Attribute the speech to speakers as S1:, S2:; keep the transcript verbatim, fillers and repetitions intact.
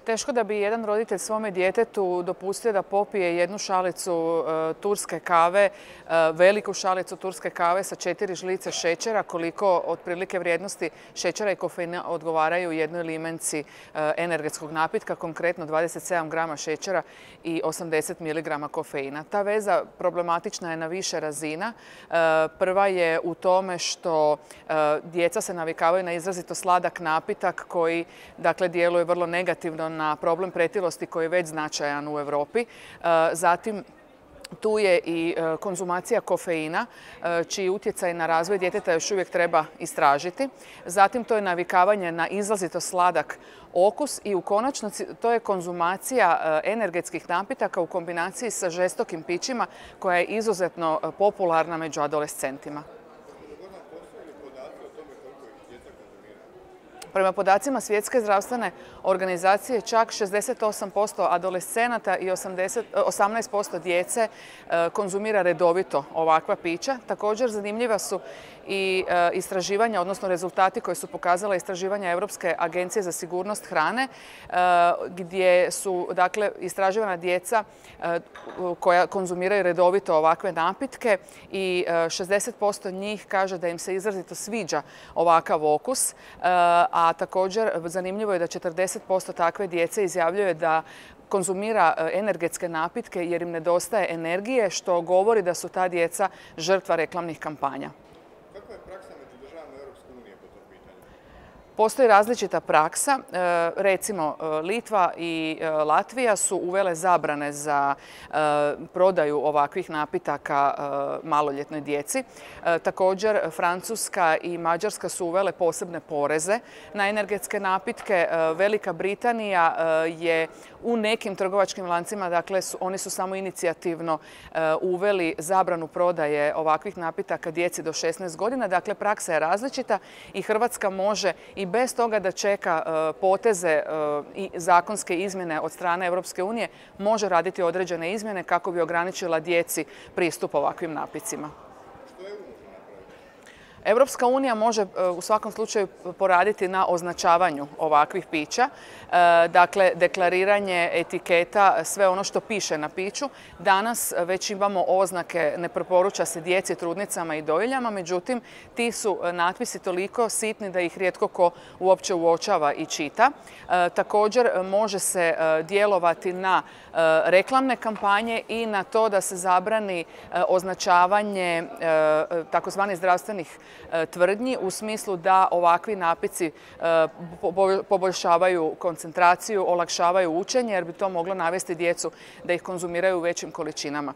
S1: Teško da bi jedan roditelj svome djetetu dopustio da popije jednu šalicu e, turske kave, e, veliku šalicu turske kave sa četiri žlice šećera, koliko otprilike vrijednosti šećera i kofeina odgovaraju jednoj limenci e, energetskog napitka, konkretno dvadeset sedam grama šećera i osamdeset miligrama kofeina. Ta veza problematična je na više razina. E, prva je u tome što e, djeca se navikavaju na izrazito sladak napitak koji dakle djeluje vrlo negativno na problem pretilosti koji je već značajan u Europi. Zatim, tu je i konzumacija kofeina, čiji utjecaj na razvoj djeteta još uvijek treba istražiti. Zatim, to je navikavanje na izrazito sladak okus i u konačnici to je konzumacija energetskih napitaka u kombinaciji sa žestokim pićima koja je izuzetno popularna među adolescentima. Prema podacima Svjetske zdravstvene organizacije, čak šezdeset osam posto adolescenata i osamnaest posto djece konzumira redovito ovakva pića. Također zanimljiva su i istraživanja, odnosno rezultati koje su pokazala istraživanja Europske agencije za sigurnost hrane, gdje su dakle istraživana djeca koja konzumiraju redovito ovakve napitke i šezdeset posto njih kaže da im se izrazito sviđa ovakav okus, a također zanimljivo je da četrdeset posto takve djece izjavljuje da konzumira energetske napitke jer im nedostaje energije, što govori da su ta djeca žrtva reklamnih kampanja.
S2: Kakva je praksa među državama Europske unije po tom pitanju?
S1: Postoji različita praksa. Recimo, Litva i Latvija su uvele zabrane za prodaju ovakvih napitaka maloljetnoj djeci. Također, Francuska i Mađarska su uvele posebne poreze na energetske napitke. Velika Britanija je u nekim trgovačkim lancima, dakle, oni su samo inicijativno uveli zabranu prodaje ovakvih napitaka djeci do šesnaest godina. Dakle, praksa je različita i Hrvatska može i bez toga da čeka poteze i zakonske izmjene od strane Europske unije, može raditi određene izmjene kako bi ograničila djeci pristup ovakvim napitcima. Europska unija može u svakom slučaju poraditi na označavanju ovakvih pića, dakle deklariranje etiketa, sve ono što piše na piću. Danas već imamo oznake ne preporuča se djeci, trudnicama i dojiljama, međutim ti su natpisi toliko sitni da ih rijetko ko uopće uočava i čita. Također može se djelovati na reklamne kampanje i na to da se zabrani označavanje takozvanih zdravstvenih tvrdnji u smislu da ovakvi napici poboljšavaju koncentraciju, olakšavaju učenje jer bi to moglo navesti djecu da ih konzumiraju u većim količinama.